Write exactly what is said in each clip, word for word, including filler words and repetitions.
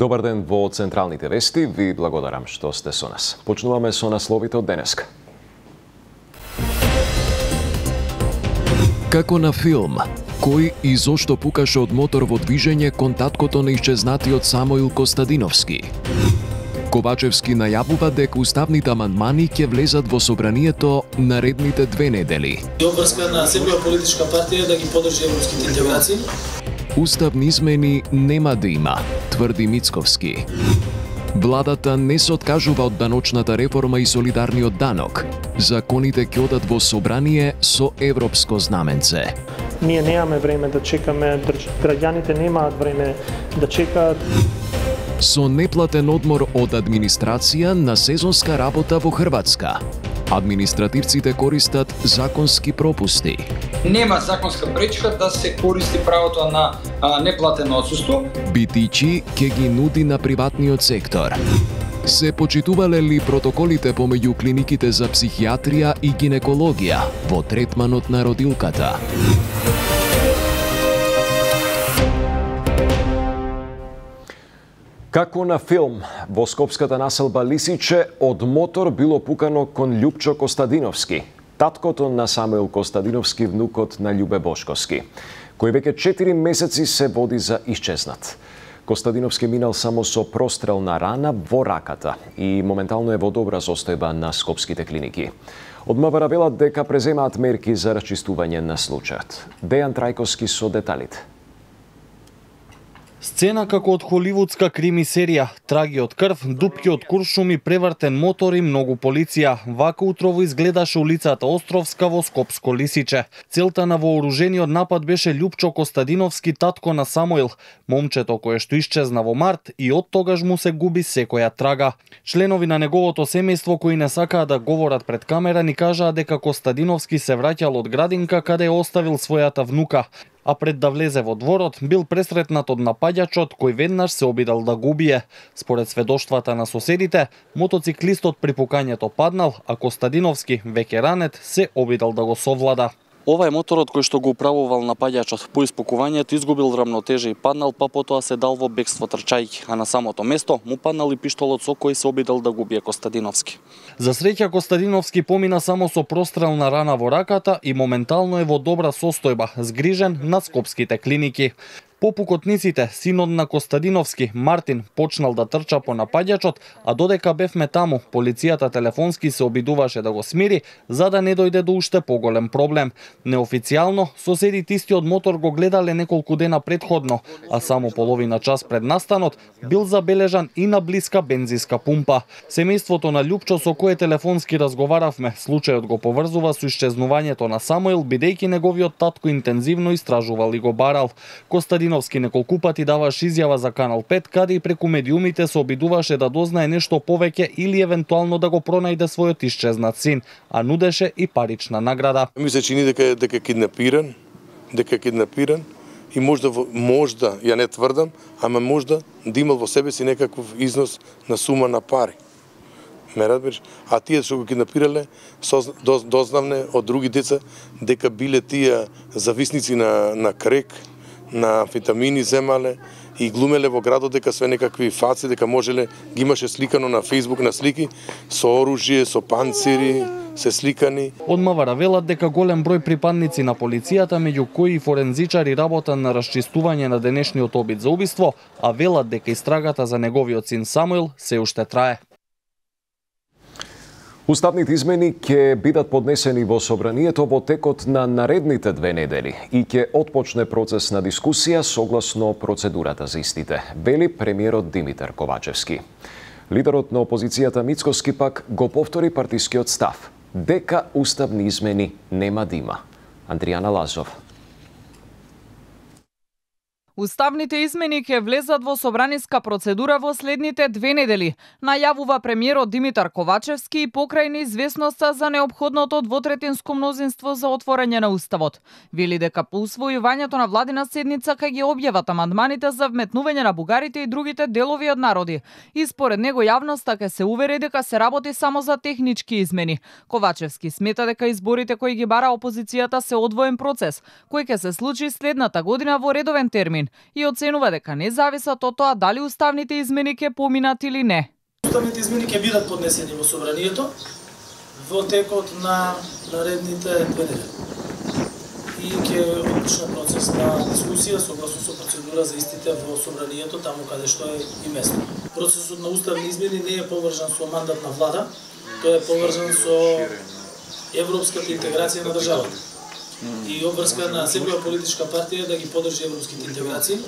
Добар ден во Централните вести, ви благодарам што сте со нас. Почнуваме со насловите од денеска. Како на филм, кој и зошто пукаше од мотор во движење кон таткото на исчезнатиот Самоил Костадиновски? Ковачевски најавува дека уставните амандмани ќе влезат во собранието наредните две недели. Обврска на секоја политичка партија да ги подржи европските интеграции. Уставни измени нема да има, тврди Мицковски. Владата не се откажува од даночната реформа и солидарниот данок. Законите ќе одат во собрание со европско знаменце. Ние немаме време да чекаме, граѓаните немаат време да чекаат. Со неплатен одмор од администрација на сезонска работа во Хрватска. Административците користат законски пропусти. Нема законска пречка да се користи правото на а, неплатено отсуство. Битичи ќе ги нуди на приватниот сектор. Се почитувале ли протоколите помеѓу клиниките за психијатрија и гинекологија во третманот на родилката? Како на филм, во скопската населба Лисиче од мотор било пукано кон Љупчо Костадиновски, таткото на Самоил Костадиновски, внукот на Љубе Бошковски, кој веќе четири месеци се води за исчезнат. Костадиновски минал само со прострелна рана во раката и моментално е во добра состојба на скопските клиники. Од МВР велат дека преземаат мерки за расчистување на случајот. Дејан Трајковски со деталите. Сцена како од холивудска крими серија, траги од крв, дупки од куршуми, превртен мотор и многу полиција. Вака утрово изгледаше улицата Островска во скопско Лисиче. Целта на вооружениот напад беше Љупчо Костадиновски, татко на Самоил, момчето кое што исчезна во март и од тогаш му се губи секоја трага. Членови на неговото семејство кои не сакаа да говорат пред камера ни кажаа дека Костадиновски се враќал од градинка каде е оставил својата внука, а пред да влезе во дворот бил пресретнат од напаѓачот кој веднаш се обидал да го убие. Според сведоштвата на соседите, мотоциклистот при пукањето паднал, а Костадиновски, веќе ранет, се обидал да го совлада. Ова е моторот кој што го управувал напаѓачот. По испукувањето изгубил рамнотежа и паднал, па потоа се дал во бегство трчајќи, а на самото место му паднал и пиштолот со кој се обидал да го убие Костадиновски. За среќа Костадиновски помина само со прострелна рана во раката и моментално е во добра состојба, згрижен на скопските клиники. По пукотниците, синот на Костадиновски, Мартин, почнал да трча по напаѓачот, а додека бевме таму, полицијата телефонски се обидуваше да го смири, за да не дојде до уште поголем проблем. Неофицијално, соседите истиот мотор го гледале неколку дена предходно, а само половина час пред настанот бил забележан и на блиска бензинска пумпа. Семејството на Љупчо со кое телефонски разговаравме, случајот го поврзува со исчезнувањето на Самоил, бидејќи неговиот татко интензивно истражувал и го барал. Костадиновски неколку пати даваше изјава за Канал пет, каде и преку медиумите се обидуваше да дознае нешто повеќе или евентуално да го пронајде својот исчезнат син, а нудеше и парична награда. Ми се чини дека дека е киднапиран, дека е киднапиран и можда можда, ја не тврдам, ама можда да имал во себе си некаков износ на сума на пари. Ме разбираш? А тие што го киднапирале, дознавне од други деца дека биле тие зависници на на крек, на амфетамини земале и глумеле во градот дека све некакви фаци, дека можеле, ги имаше сликано на Facebook на слики со оружје, со панцири, се сликани. Од МВР велат дека голем број припадници на полицијата, меѓу кои и форензичари, работа на расчистување на денешниот обид за убиство, а велат дека истрагата за неговиот син Самоил се уште трае. Уставните измени ќе бидат поднесени во собранието во текот на наредните две недели и ќе отпочне процес на дискусија согласно процедурата за истите, вели премиерот Димитар Ковачевски. Лидерот на опозицијата Мицковски пак го повтори партискиот став, дека уставни измени нема да има. Андријана Лазов. Уставните измени ќе влезат во собраниска процедура во следните две недели, најавува премиерот Димитар Ковачевски и покрај неизвестноста за неопходното двотретинско мнозинство за отворање на уставот. Вели дека по усвојувањето на владина седница ќе ги објават амандманите за вметнување на бугарите и другите делови од народи. И според него јавноста ќе се увери дека се работи само за технички измени. Ковачевски смета дека изборите кои ги бара опозицијата се одвоен процес, кој ќе се случи следната година во редовен термин. граѓанин и оценува дека не зависат од тоа дали уставните измени ќе поминат или не. Уставните измени ќе бидат поднесени во собранието во текот на наредните две недели. И ќе почне процес на дискусија согласно со процедура за истите во собранието, таму каде што е и место. Процесот на уставни измени не е поврзан со мандат на влада, тој е поврзан со европската интеграција на државата. И обврска на секоја политичка партија да ги поддржи европските интеграции.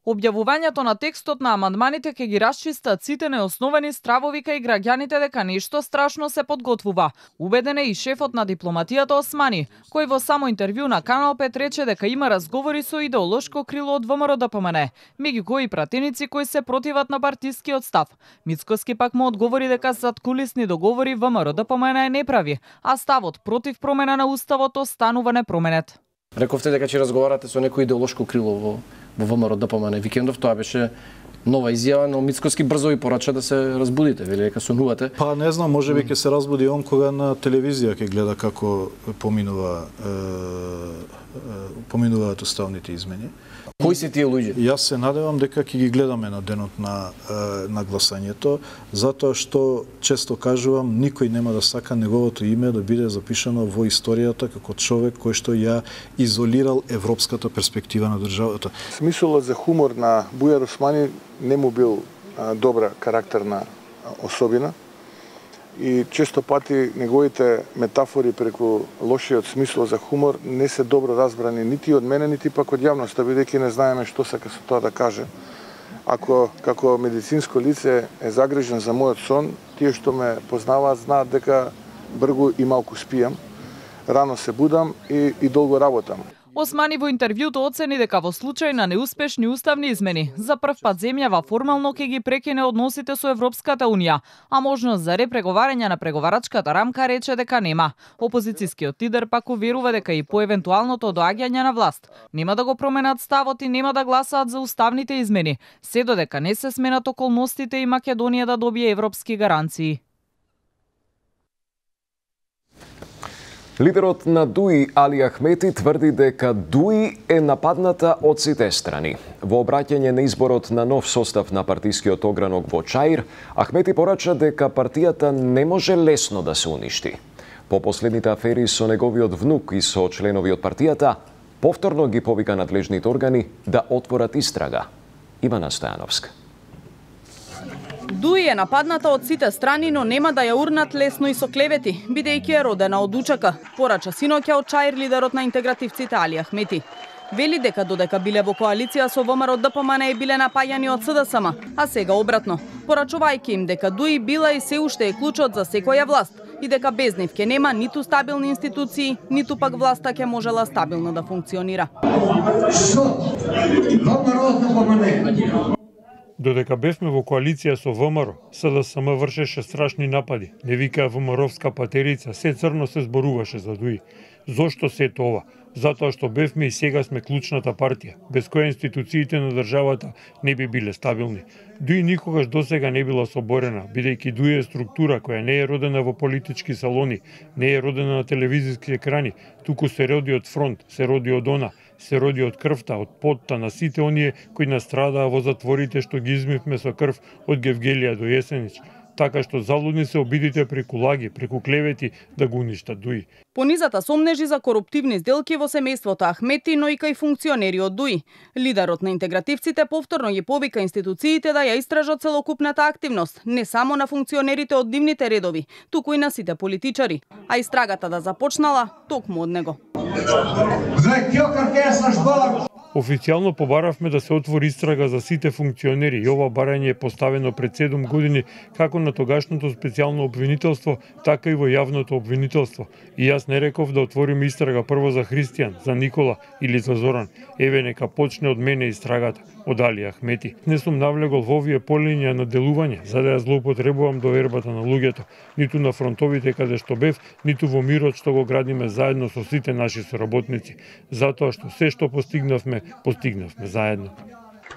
Објавувањето на текстот на амандманите ќе ги расчистат сите неосновани стравови кај граѓаните дека нешто страшно се подготвува. Убеден е и шефот на дипломатијата Османи, кој во само интервју на Канал пет рече дека има разговори со идеолошко крило од ВМРО Д П М Н, меѓу кои пратеници кои се противат на партискиот став. Мицкоски пак му одговори дека заткулисни договори ВМРО Д П М Н не прави, а ставот против промена на уставот останува непроменет. Рековте дека ќе разговарате со некој идеолошко крило во во ВМРО Д П М Н викендов, тоа беше нова изјава, но Мицкоски брзо ви порача да се разбудите, вели дека сонувате. Па не знам, можеби ќе се разбуди он кога на телевизија ќе гледа како поминува е, е, поминуваат уставните измени. Кои се тие луѓе? Јас се надевам дека ќе ги гледаме на денот на на гласањето, затоа што често кажувам, никој нема да сака неговото име да биде запишано во историјата како човек кој што ја изолирал европската перспектива на државата. Смисолот за хумор на Бујар Османи не му бил а, добра карактерна особина и често пати неговите метафори преку лошиот смисол за хумор не се добро разбрани нити од мене, нити пак од јавноста, бидејќи не знаеме што сака со тоа да каже. Ако како медицинско лице е загрижен за мојот сон, тие што ме познаваат знаат дека бргу и малку спијам, рано се будам и, и долго работам. Османи во интервјуто оцени дека во случај на неуспешни уставни измени, за прв пат земјава формално ќе ги прекине односите со Европската Унија, а можност за репреговарање на преговарачката рамка рече дека нема. Опозицијскиот лидер пак уверува дека и по евентуалното доаѓање на власт нема да го променат ставот и нема да гласаат за уставните измени, се додека не се сменат околностите и Македонија да добие европски гаранции. Лидерот на ДУИ Али Ахмети тврди дека ДУИ е нападната од сите страни. Во обраќање на изборот на нов состав на партискиот огранок во Чаир, Ахмети порача дека партијата не може лесно да се уништи. По последните афери со неговиот внук и со членови од партијата, повторно ги повика надлежните органи да отворат истрага. Ивана Стојановска. ДУИ е нападната од сите страни, но нема да ја урнат лесно и со клевети, бидејќи е родена од учака, порача синоќа од Чаир лидерот на интегративците Али Ахмети. Вели дека додека биле во коалиција со ВМРО Д П М Н биле напаѓани од С Д С М, а сега обратно, порачувајќи им дека ДУИ била и се уште е клучот за секоја власт и дека без нив ќе нема ниту стабилни институции, ниту пак власта ќе можела стабилно да функционира. Додека бевме во коалиција со ВМРО, С Д С М вршеше страшни напади. Не викаа ВМРО-вска патерица, се црно се зборуваше за ДУИ. Зошто се тоа? Затоа што бевме и сега сме клучната партија, без која институциите на државата не би биле стабилни. ДУИ никогаш досега не била соборена, бидејќи ДУИ е структура која не е родена во политички салони, не е родена на телевизиски екрани, туку се роди од фронт, се роди од она, се роди од крвта, од потта на сите оние кои настрадаа во затворите што ги измивме со крв од Гевгелија до Јесенич. Така што залудни се обидите преку лаги, преку клевети да го уништат ДУИ. Понизата сомнежи за коруптивни сделки во семејството Ахмети, но и кај функционери од ДУИ. Лидерот на интегративците повторно ги повика институциите да ја истражат целокупната активност, не само на функционерите од нивните редови, туку и на сите политичари, а истрагата да започнала токму од него. Официјално побаравме да се отвори истрага за сите функционери и ова барање е поставено пред седум години како на тогашното специјално обвинителство, така и во јавното обвинителство. И јас не реков да отвориме истрага прво за Христијан, за Никола или за Зоран. Еве нека почне од мене истрагата, од Али Ахмети. Не сум навлегол во овие полиња на делување, за да ја злоупотребувам довербата на луѓето, ниту на фронтовите каде што бев, ниту во мирот што го градиме заедно со сите наши соработници, затоа што се што постигнавме, постигнавме заедно.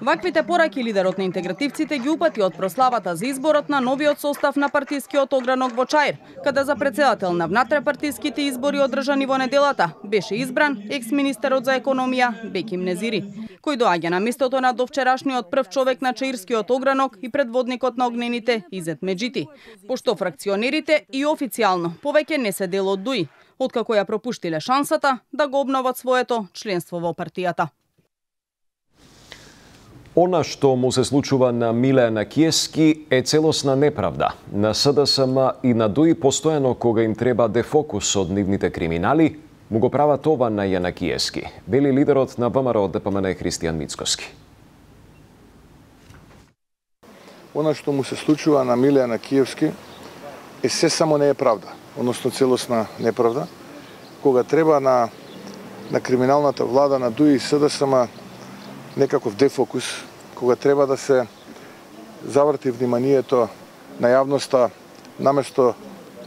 Ваквите пораки лидерот на интегративците ги упати од прославата за изборот на новиот состав на партискиот огранок во Чаир, каде за председател на внатрепартиските избори одржани во неделата беше избран екс-министерот за економија Беким Незири, кој доаѓа на местото на довчерашниот прв човек на Чаирскиот огранок и предводникот на огнените Изет Меджити, пошто фракционерите и официјално повеќе не се дел од ДУИ, откако ја пропуштиле шансата да го обноват своето членство во партијата. Она што му се случува на Миле Анакиевски е целосна неправда. На СДСМ и на ДУИ постојано кога им треба дефокус од нивните криминали, му го прават ова на Јанакиевски, вели лидерот на ВМРО ДПМН Христијан Мицкоски. Она што му се случува на Миле Анакиевски е се само не е правда, односно целосна неправда. Кога треба на на криминалната влада на ДУИ и СДСМ некаков дефокус, кога треба да се заврти вниманието на јавноста, наместо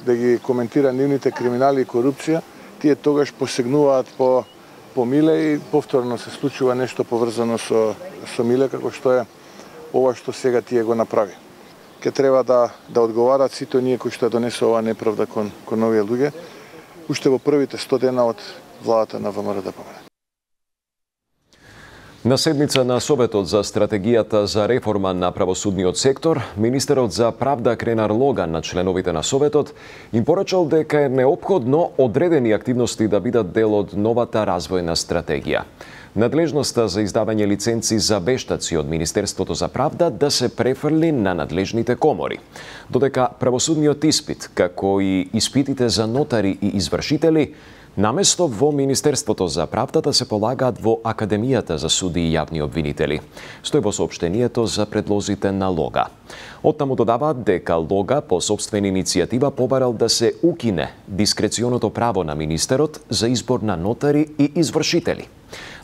да ги коментира нивните криминали и корупција, тие тогаш посегнуваат по, по Миле и повторно се случува нешто поврзано со, со Миле, како што е ова што сега тие го направи. Ке треба да, да одговарат сите оние кои што донесе оваа неправда кон, кон овие луѓе, уште во првите сто дена од владата на ВМРО ДПМН. На седница на Советот за стратегијата за реформа на правосудниот сектор, министерот за правда Кренар Логан на членовите на Советот им порачал дека е неопходно одредени активности да бидат дел од новата развојна стратегија. Надлежноста за издавање лиценци за вештаци од Министерството за правда да се префрли на надлежните комори, додека правосудниот испит, како и испитите за нотари и извршители, наместо во Министерството за правда да се полагаат во Академијата за суди и јавни обвинители, стои во соопштението за предлозите на Лога. Оттаму додаваат дека Лога по собствена иницијатива побарал да се укине дискреционото право на министерот за избор на нотари и извршители.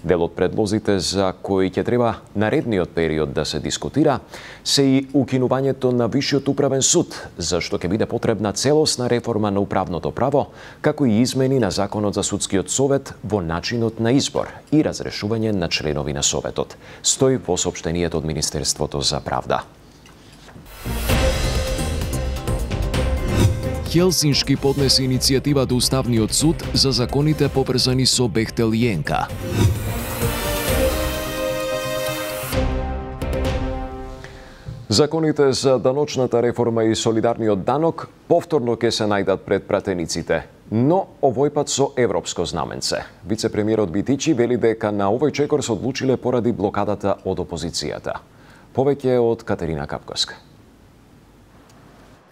Дел од предлозите за кои ќе треба наредниот период да се дискутира се и укинувањето на Висшиот управен суд, зашто ќе биде потребна целосна реформа на управното право, како и измени на Законот за судскиот совет во начинот на избор и разрешување на членови на Советот, стои во соопштението од Министерството за правда. Хелсиншки поднесе иницијатива до Уставниот суд за законите поврзани со Бехтел и Енка. Законите за даночната реформа и солидарниот данок повторно ќе се најдат пред пратениците, но овој пат со европско знаменце. Вице-премиерот Битичи вели дека на овој чекор се одлучиле поради блокадата од опозицијата. Повеќе од Катерина Капковска.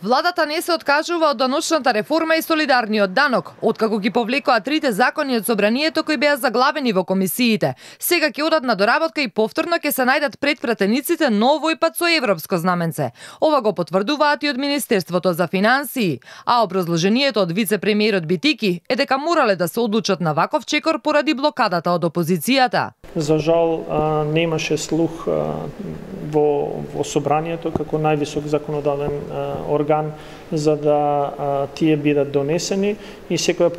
Владата не се откажува од даночната реформа и солидарниот данок, откако ги повлекоа трите закони од собранието кои беа заглавени во комисиите. Сега ќе одат на доработка и повторно ќе се најдат пред пратениците, но овој пат со европско знаменце. Ова го потврдуваат и од Министерството за финансии, а образложението од вице-премиерот Битики е дека морале да се одлучат на ваков чекор поради блокадата од опозицијата. За жал немаше слух во, во собранието како највисок законодавен орган за да а, тие бидат донесени и секоја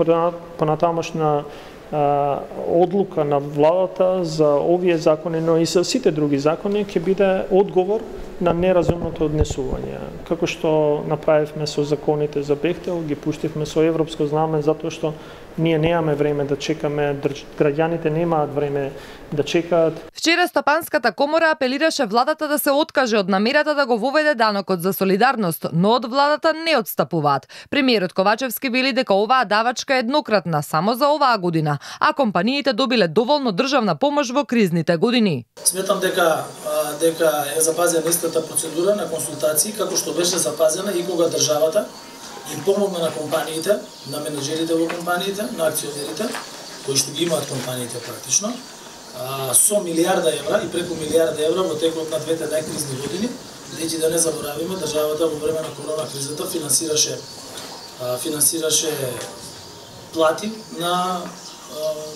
понатамошна а, одлука на владата за овие закони, но и за сите други закони ќе биде одговор на неразумното однесување. Како што направивме со законите за Бехтел, ги пуштивме со европско знаме затоа што ние немаме време да чекаме, граѓаните немаат време да чекаат. Вчера Стопанската комора апелираше владата да се откаже од намерата да го воведе данокот за солидарност, но од владата не отстапуваат. Премиерот Ковачевски вели дека оваа давачка е еднократна само за оваа година, а компаниите добиле доволно државна помош во кризните години. Сметам дека дека е запазена истата процедура на консултации како што беше запазена и кога државата им помогна на компаниите, на менеджерите во компаниите, на акционерите, кои што ги имаат компаниите практично, со милиарда евра и преку милиарда евра во текот на двете најкризни години, бидејќи да не заборавиме, државата во време на корона кризата финансираше финансираше плати на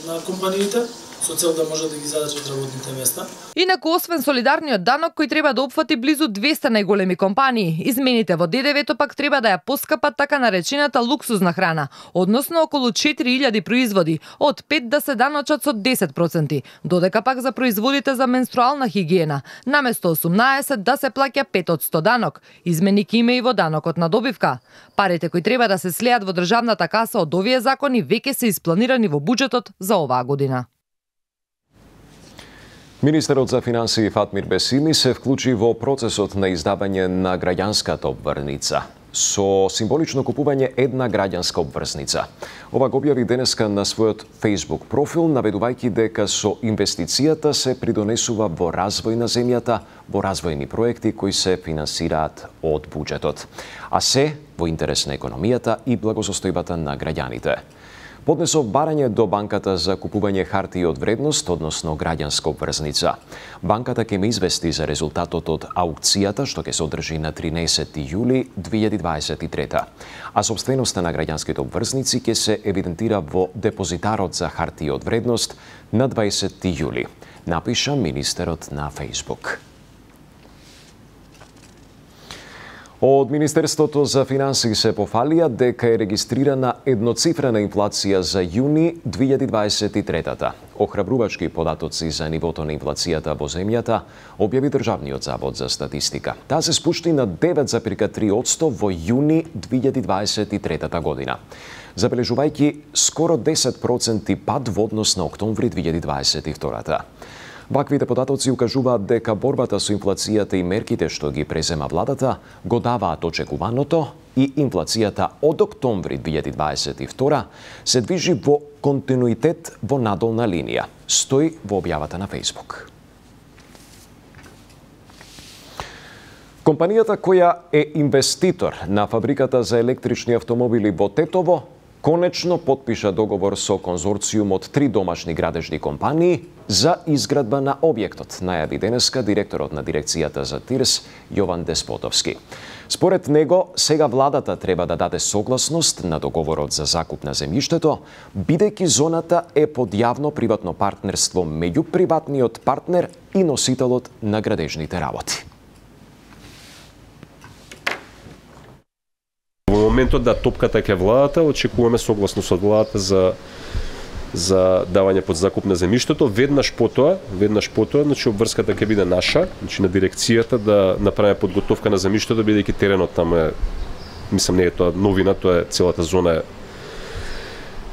на компаниите со цел да може да ги задржат работните места. Инаку, освен солидарниот данок кој треба да опфати близу двесте најголеми компании, измените во Д Д В-то пак треба да ја поскапат така наречената луксузна храна, односно околу четири илјади производи, од пет да се даночат со десет проценти, додека пак за производите за менструална хигиена, наместо осумнаесет да се плаќа пет од сто данок. Измени ќе има и во данокот на добивка. Парите кои треба да се слеат во државната каса од овие закони веќе се испланирани во буџетот за оваа година. Министерот за финансии Фатмир Бесими се вклучи во процесот на издавање на граѓанската обврзница со символично купување една граѓанска обврзница. Ова го објави денеска на својот Facebook профил, наведувајќи дека со инвестицијата се придонесува во развој на земјата, во развојни проекти кои се финансираат од буџетот, а се во интерес на економијата и благосостојбата на граѓаните. Поднесов барање до банката за купување хартии од вредност, односно граѓанска обврзница. Банката ќе ме извести за резултатот од аукцијата, што ќе се одржи на тринаесети јули две илјади дваесет и трета. А сопственоста на граѓанските обврзници ќе се евидентира во депозитарот за хартии од вредност на дваесети јули, напиша министерот на Facebook. Од Министерството за финансии се пофалија дека е регистрирана едноцифрена инфлација за јуни две илјади дваесет и трета. Охрабрувачки податоци за нивото на инфлацијата во земјата објави Државниот завод за статистика. Таа се спушти на девет зарез три одсто во јуни две илјади дваесет и трета година, забележувајќи скоро десет проценти пад во однос на октомври две илјади дваесет и втора. Ваквите податоци укажуваат дека борбата со инфлацијата и мерките што ги презема владата го даваат очекуваното и инфлацијата од октомври две илјади дваесет и втора се движи во континуитет во надолна линија, стои во објавата на Facebook. Компанијата која е инвеститор на фабриката за електрични автомобили во Тетово конечно потпиша договор со конзорциум од три домашни градежни компании за изградба на објектот, најави денеска директорот на дирекцијата за ТИРС Јован Деспотовски. Според него, сега владата треба да даде согласност на договорот за закуп на земјиштето, бидејќи зоната е под јавно-приватно партнерство меѓу приватниот партнер и носителот на градежните работи. Во моментот да топката ќе владата, очекуваме согласност од владата за за давање под закуп на земјиштето. Веднаш потоа, веднаш потоа, значи обврската ќе биде наша, значи на дирекцијата да направиме подготовка на земјиштето, бидејќи теренот таму е, мислам не е тоа новина, тоа е целата зона е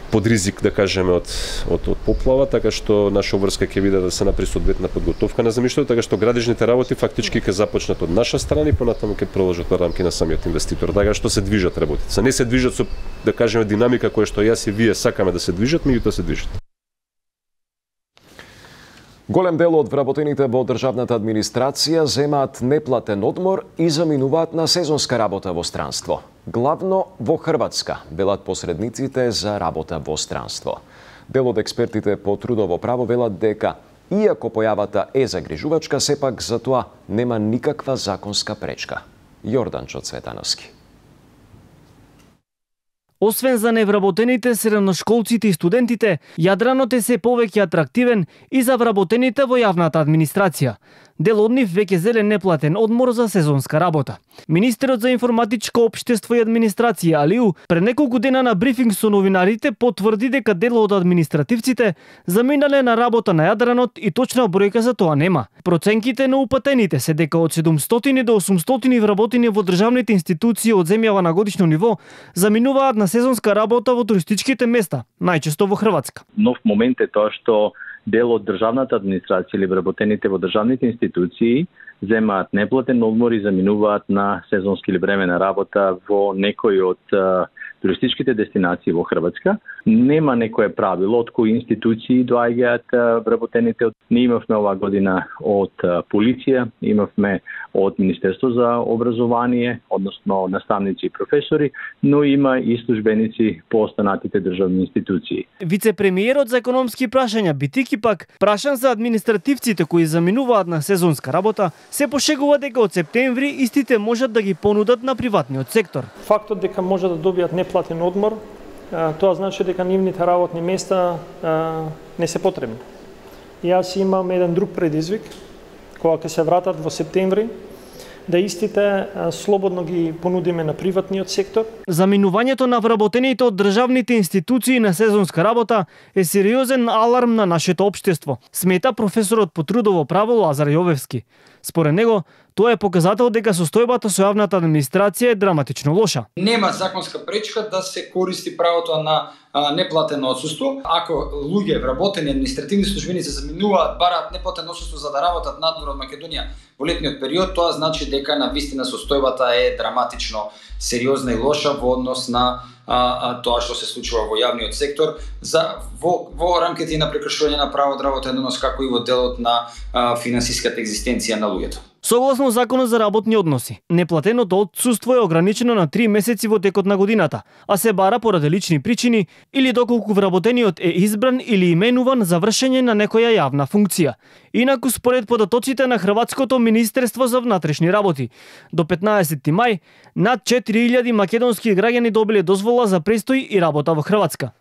под ризик, да кажеме, од, од, од поплава, така што наша обврска ќе биде да се направи соодветна подготовка на земјиштето, така што градежните работи фактички ќе започнат од наша страна и понатаму ќе продолжат во рамки на самиот инвеститор. Така што се движат работите. Не се движат со, да кажеме, динамика која што јас и вие сакаме да се движат, меѓутоа се движат. Голем дел од вработените во државната администрација земаат неплатен одмор и заминуваат на сезонска работа во странство. Главно во Хрватска, велат посредниците за работа во странство. Дел од експертите по трудово право велат дека, иако појавата е загрижувачка, сепак за тоа нема никаква законска пречка. Јорданчо Цветановски. Освен за невработените, средношколците и студентите, јадранот е се повеќе атрактивен и за вработените во јавната администрација. Дел од нив веќе зеле неплатен одмор за сезонска работа. Министерот за информатичко општество и администрација Алиу пред неколку дена на брифинг со новинарите потврди дека дел од административците заминале на работа на јадранот и точна бројка за тоа нема. Проценките на упатените се дека од седумстотини до осумстотини вработени во државните институции од земјава на годишно ниво заминуваат на сезонска работа во туристичките места, најчесто во Хрватска. Нов момент е тоа што дел од државната администрација или вработените во државните институции земаат неплатен одмор и заминуваат на сезонски или времена работа во некои од туристичките дестинации во Хрватска. Нема некое правило од кои институции доаѓаат вработените. Ние имавме оваа година од полиција, имавме од Министерство за образование, односно наставници и професори, но има и службеници по останатите државни институции. Вице-премиерот за економски прашања Битики пак, прашан за административците кои заминуваат на сезонска работа, се пошегува дека од септември истите можат да ги понудат на приватниот сектор. Фактот дека може да добијат неплатен одмор, тоа значи дека нивните работни места не се потребни. Јас имам еден друг предизвик, кога ќе се вратат во септември, да истите слободно ги понудиме на приватниот сектор. Заминувањето на вработените од државните институции на сезонска работа е сериозен аларм на нашето општество, смета професорот по трудово право Лазар Јовевски. Според него, тоа е показател дека состојбата со јавната администрација е драматично лоша. Нема законска пречка да се користи правото на а, неплатено отсуство. Ако луѓе, вработени административни службеници заминуваат, бараат неплатено отсуство за да работат надвор од Македонија во летниот период, тоа значи дека на вистина состојбата е драматично сериозна и лоша во однос на а, а, тоа што се случува во јавниот сектор за во, во рамките на прекршување на право од работа едносно како и во делот на а, финансиската екзистенција на луѓето. Согласно Законот за работни односи, неплатеното отсуство е ограничено на три месеци во текот на годината, а се бара поради лични причини или доколку вработениот е избран или именуван за вршење на некоја јавна функција. Инаку според податоците на Хрватското Министерство за внатрешни работи, до петнаесети мај над четири илјади македонски граѓани добиле дозвола за престој и работа во Хрватска.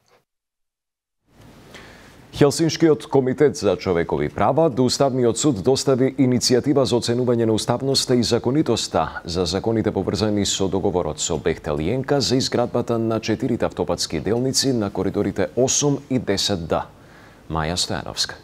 Хелсиншкиот комитет за човекови права до Уставниот суд достави иницијатива за оценување на уставноста и законитоста за законите поврзани со договорот со Бехтел и Енка за изградбата на четирите автопатски делници на коридорите осум и десет Д. Маја Стојановска.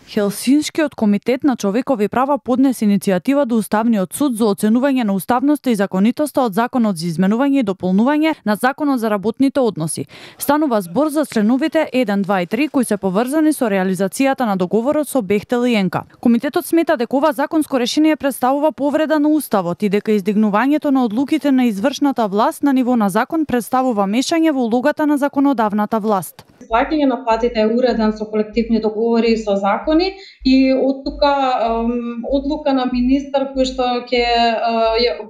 Хелсиншкиот комитет на човекови права поднесе иницијатива до Уставниот суд за оценување на уставноста и законитоста од Законот за изменување и дополнување на Законот за работните односи. Станува збор за членовите еден, два и три кои се поврзани со реализацијата на договорот со Бехтел и Енка. Комитетот смета дека ова законско решение представува повреда на уставот и дека издигнувањето на одлуките на извршната власт на ниво на закон представува мешање во улогата на законодавната власт. Плаќање на платите е уреден со колективни договори и со закони и од тука одлука на министар кој што ќе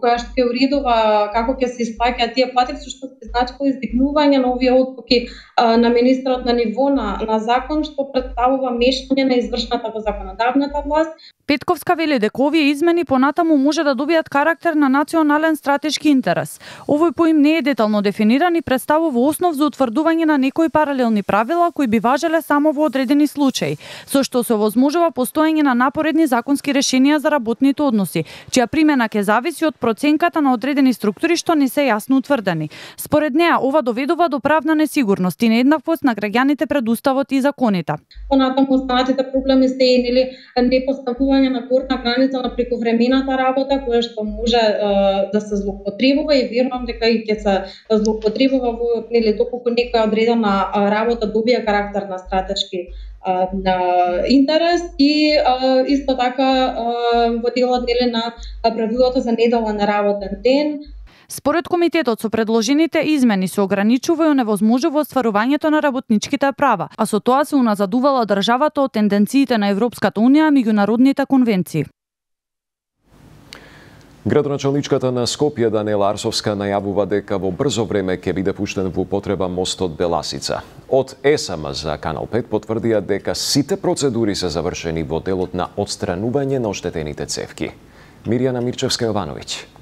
која што ќе уредува како ќе се исплаќаат тие плати, што се значи издигнување на овие одлуки на министерот на ниво на, на закон што представува мешање на извршната во законодавната власт. Петковска вели дека овие измени понатаму може да добијат карактер на национален стратешки интерес. Овој поим не е детално дефиниран и представува основ за утврдување на некои паралелни правила кои би важеле само во одредени случаи, со што се овозможува постоење на напоредни законски решенија за работните односи, чија примена ќе зависи од проценката на одредени структури што не се јасно утврдени. Според неа, ова доведува до правна несигурност и нееднаквост на граѓаните пред уставот и законите. Понатаму останатите проблеми се или непоставување на горна граница на прековремената работа, која што може uh, да се злоупотребува и верувам дека и ќе се злоупотребува во нели доколку некоја одредена работа добија карактер на стратешки uh, на интерес и uh, исто така uh, во делот нели на правилото за неделен работен ден. Според комитетот, со предложените измени се ограничува и оневозможува остварувањето на работничките права, а со тоа се уназадувала државата од тенденциите на Европската унија и меѓународните конвенции. Градоначалничката на Скопје Даниела Арсовска најавува дека во брзо време ќе биде пуштен во употреба мостот Беласица. Од ЕСАМ за Канал пет потврдија дека сите процедури се завршени во делот на отстранување на оштетените цевки. Мирјана Мирчевска-Јовановиќ.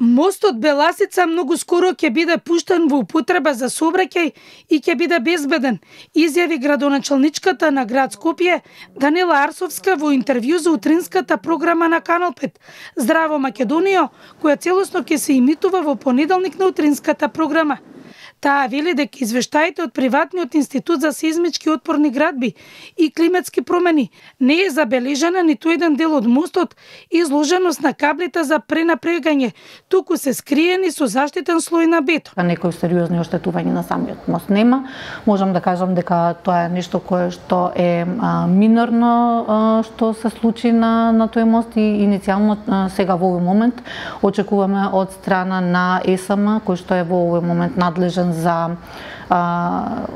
Мостот Беласица многу скоро ќе биде пуштен во употреба за сообраќај и ќе биде безбеден, изјави градоначалничката на град Скопје Даниела Арсовска во интервју за утринската програма на Канал пет Здраво Македонија, која целосно ќе се имитува во понеделник на утринската програма. Таа вели дека извештаите од приватниот институт за сеизмички отпорни градби и климатски промени не е забележана ниту еден дел од мостот и изложеност на каблите за пренапрегање, туку се скриени со заштитен слој на бетон. Некои сериозни оштетувања на самиот мост нема. Можам да кажам дека тоа е нешто кое што е а, минорно а, што се случи на на тој мост и иницијално а, сега во овој момент очекуваме од страна на ЕСАМ кој што е во овој момент надлежен за а,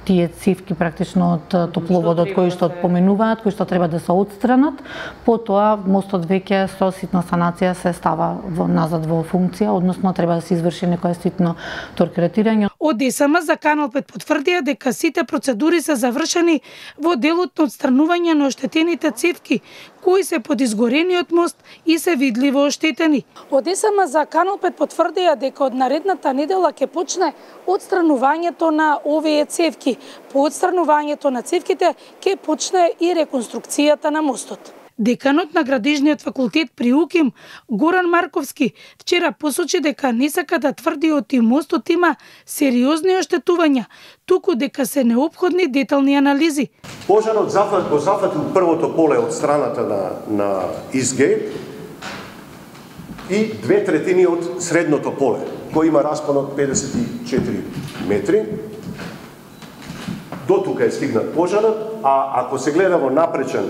тие цевки практично од топловодот кои што поменуваат, кои што треба да се отстранат. Потоа мостот веќе со ситна санација се става во назад во функција, односно треба да се изврши некое ситно торкретирање. Од ДСМ за Канал пет потврдија дека сите процедури се завршени во делот на отстранување на оштетените цевки, кои се под изгорениот мост и се видливо оштетени. Од ДСМ за Канал пет потврдија дека од наредната недела ќе почне отстранувањето на овие цевки. По отстранувањето на цевките ќе почне и реконструкцијата на мостот. Деканот на Градежниот факултет при УКИМ, Горан Марковски, вчера посочи дека не сака да тврди оти мостот има сериозни оштетувања, туку дека се неопходни детални анализи. Пожарот зафат, го зафатил првото поле од страната на, на Изгейт и две третини од средното поле, кој има распон од педесет и четири метри. До тука е стигнат пожарот, а ако се гледа во напречен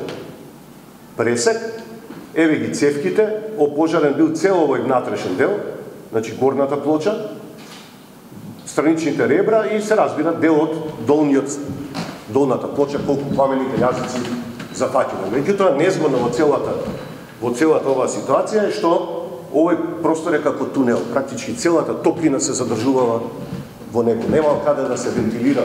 пресек, еве ги цевките, опожарен бил цел овој внатрешен дел, значи горната плоча, страничните ребра и се разбира дел од долниот, долната плоча, колку пламените јазици зафаќено. Меѓутоа, незгодно во целата, во целата оваа ситуација е што овој простор е како тунел. Практички целата топлина се задржувала во него. Нема каде да се вентилира,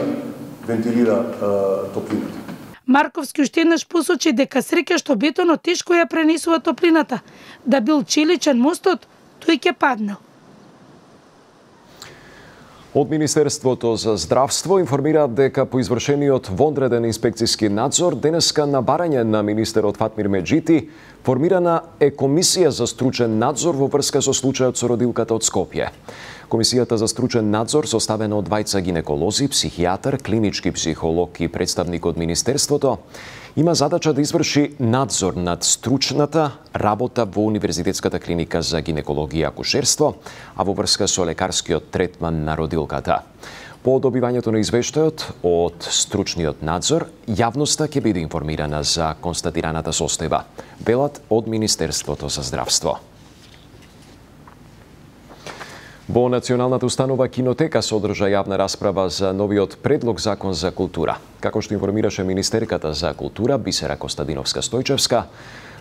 вентилира е, топлината. Марковски уште еднаш посочи дека среќа што бетонот тешко ја пренесува топлината. Да бил челичен мостот, тој ќе паднал. Од Министерството за здравство информираат дека по извршениот вонреден инспекцијски надзор денеска на барање на министерот Фатмир Меджити формирана е комисија за стручен надзор во врска со случајот со родилката од Скопје. Комисијата за стручен надзор, составена од двајца гинеколози, психијатар, клинички психолог и представник од Министерството, има задача да изврши надзор над стручната работа во Универзитетската клиника за гинекологија и акушерство, а во врска со лекарскиот третман на родилката. По добивањето на извештајот од стручниот надзор, јавноста ќе биде информирана за констатираната состојба, велат од Министерството за здравство. Во Националната установа Кинотека се одржа јавна расправа за новиот предлог закон за култура. Како што информираше министерката за култура Бисера Костадиновска-Стојчевска,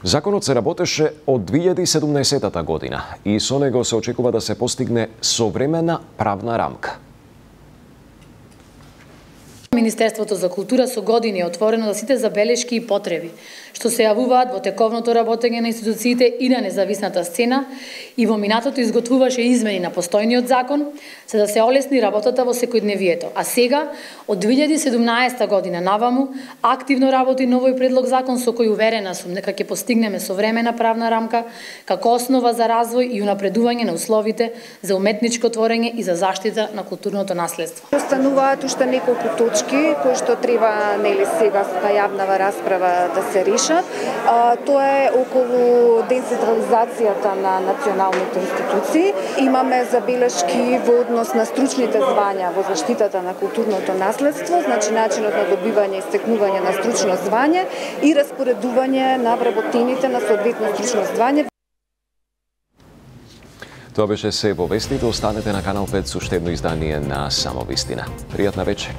законот се работеше од две илјади и седумнаесетта година и со него се очекува да се постигне современа правна рамка. Министерството за култура со години е отворено за сите забелешки и потреби што се јавуваат во тековното работење на институциите и на независната сцена и во минатото изготвуваше измени на постојниот закон за да се олесни работата во секојдневието. А сега, од две илјади и седумнаесетта година наваму, активно работи новој предлог закон со кој уверена сум дека ќе постигнеме современа правна рамка како основа за развој и унапредување на условите за уметничко творење и за заштита на културното наследство. Остануваат уште неколку точки кои што треба нели сега со јавнава расправа да се решат. А, тоа е околу децентрализацијата на националните институции. Имаме забелешки во однос на стручните звања во заштитата на културното наследство, значи начинот на добивање и стекнување на стручно звање и распоредување на вработените на соодветно стручно звање. Тоа беше се во вестите. Останете на Канал пет со уште едно издание на Само вистина. Пријатна вечер.